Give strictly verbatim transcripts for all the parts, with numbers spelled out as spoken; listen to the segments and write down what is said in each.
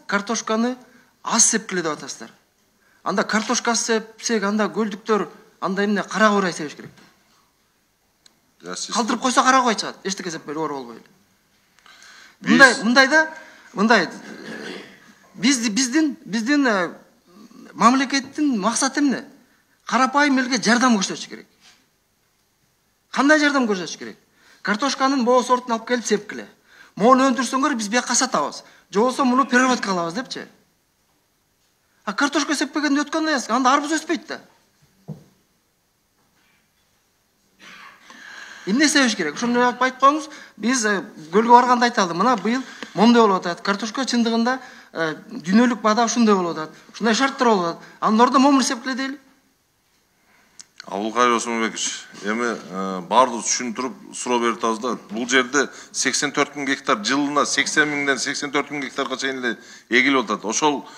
картошканы аз сепкиле деп атасыздар. Анда картошка сепсек, анда көлдүктөр, анда эмне кара курай себеш керек. Калтырып койсо кара курай чыгат. Эчтеке сеппей оор болбой эле. Мындай, мындайда, мындай биз биздин биздин мамлекеттин максаты эмне? Карапайым элге жардам көрсөтүш керек. Кандай жардам көрсөтүш керек? Картошканын боо сортун алып келип сепкиле. Мону өндүрсөңөр биз бияка сатабыз. Же болсо муну переработка кылабыз депчи. А картошка сеппегенде өткөн аяс, анда арбуз өспөйт да. Эмне себеш керек? Ошону айтып коюңуз. Биз көлгө барганда айталды. Мына быйыл мондой болуп атат. Картошка чындыгында дүйнөлүк баада ушундай болуп атат. Ушундай шарттар болуп атат. Анын ордуна момун сепкиле дейли. Абылкайыр Осмонбекович, эми баардыгы түшүндүрүп суроо берип атабыз да. Бул жерде сексен төрт миң гектар, жылына сексен миңден сексен төрт миң гектарга чейин эле эгилип атат. Ошол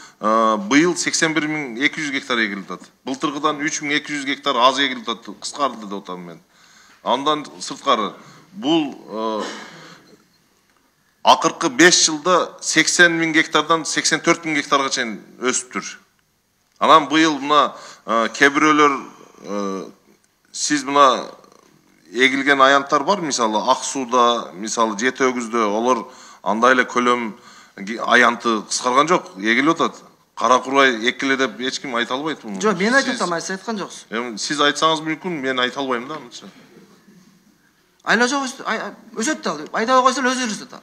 быйыл сексен бир миң эки жүз гектар эгилип атат. Былтыркыдан үч миң эки жүз гектар аз эгилип атат, кыскарды деп атам мен. Андан сырткары бул акыркы беш жылда сексен миң гектардан сексен төрт миң гектарга чейин өсүптүр. Анан быйыл мына кээ бирөөлөр сиз мына эгилген аянттар бар, мисалы Ак сууда, мисалы Жети өгүздө, олар андай эле көлөм аянты кыскарган жок, эгилип атат. Кара курай экиле деп эч ким айта албайт муну. Жок, мен айтып атам, сиз айткан жоксуз. Эми сиз айтсаңыз мүмкүн, мен айта албайм да аныча. Айла жок, өсөт да, айдабай койсо өзү өсөт да.